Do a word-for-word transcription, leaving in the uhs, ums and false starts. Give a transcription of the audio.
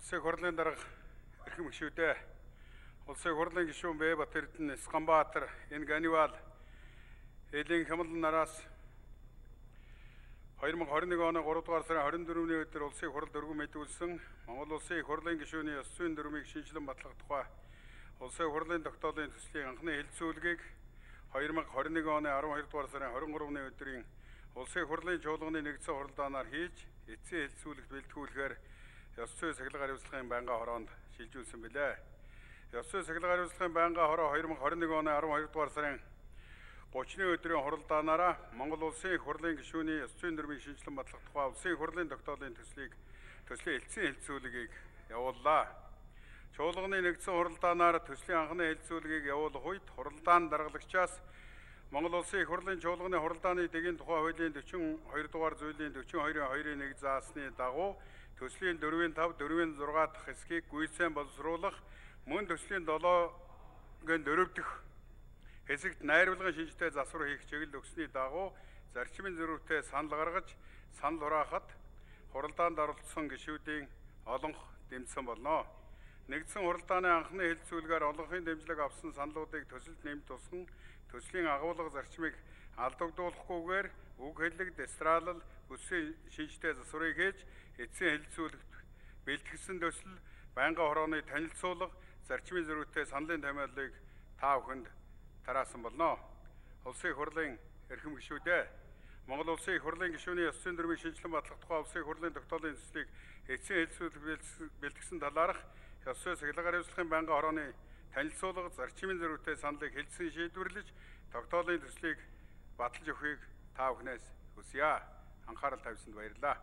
Улсын хурлын дарга эрхэм гишүүдээ Улсын хурлын гишүүн Бэбат Эрдэнэ Сканбаатар энэ Ганивал Элийн хямлан нараас хоёр мың хорин нэг оны гурав дугаар сарын хорин дөрөвний өдөр улсын хуралд өргөн мэдүүлсэн Монгол улсын их хурлын гишүүний ёс зүйн дүрмийг шинжилэн батлах тухай улсын хурлын тогтоолын төслийн анхны хэлэлцүүлгийг хоёр мың хорин нэг оны арван хоёр дугаар сарын хорин гуравны өдрийн улсын хурлын чуулганы нэгдсэн хуралдаанаар хийж эцсийн хэлэлцүүлэгт бэлтгүүлэхээр ёс зүйн сахилга хариуцлагын байнгын хороонд шилжүүлсэн билээ. Ёс зүйн сахилга хариуцлагын байнгын хороо хоёр мың хорин нэг оны арван хоёр дугаар сарын гуравны өдрийн хуралдаанаараа Монгол улсын их хурлын гишүүний ёс зүйн дүрмийг шинжилэн батлах тухай улсын их хурлын тогтоолын төслийг төслийн эцсийн хэлэлцүүлгийг явууллаа. Чуулганы нэгдсэн хуралдаанаар төслийн анхны хэлэлцүүлгийг явуулах үед хуралдаан даргалагчаас Монгол улсын их хурлын чуулганы хуралдааны дэгийн тухай хуулийн дөчнө хоёр дугаар зүйлийн дөчнө хоёрын хоёрын нэг заасны дагуу төслийн дөрвийн тав, дөрвийн зургаа дахь хэсгийг гүйцэн боловсруулах, мөн төслийн долоогийн дөрөв дэх хэсэгт найруулгын шинжтэй засвар хийх чиглэл өгсөний дагуу зарчмын зөрүүтэй санал гаргаж, санал хураахад хуралдаанд оролцсон гишүүдийн олонх дэмжсэн болно. Нэгдсэн хуралдааны анхны хэлэлцүүлгээр олонхын дэмжлэг авсан саналуудыг төсөлд нэмж тусган төслийн агуулга зарчмыг алдагдуулахгүйгээр үг хэллэг, дестралал, бүсийн шинжтэй засварыг хийж эцсийн хэлэлцүүлэгт бэлтгэсэн төсөл байнгын хорооны танилцуулга, зарчмын зөрүүтэй саналын томьёолыг та бүхэнд тараасан болно. Улсын их хурлын эрхэм гишүүдээ Монгол улсын их хурлын гишүүний ёс зүйн дүрмийг шинжилэн батлах тухай улсын их хурлын тогтоолын төслийг эцсийн хэлэлцүүлэг бэлтгэсэн талаарх ёс зүйн сахилга хариуцлагын байнгын хорооны танилцуулга, зарчмын зөрүүтэй саналыг хэлсэн шийдвэрлэж тогтоолын төслийг баталж өгөхийг та бүхнээс хүсье. Анхаарал тавьсанд баярлалаа.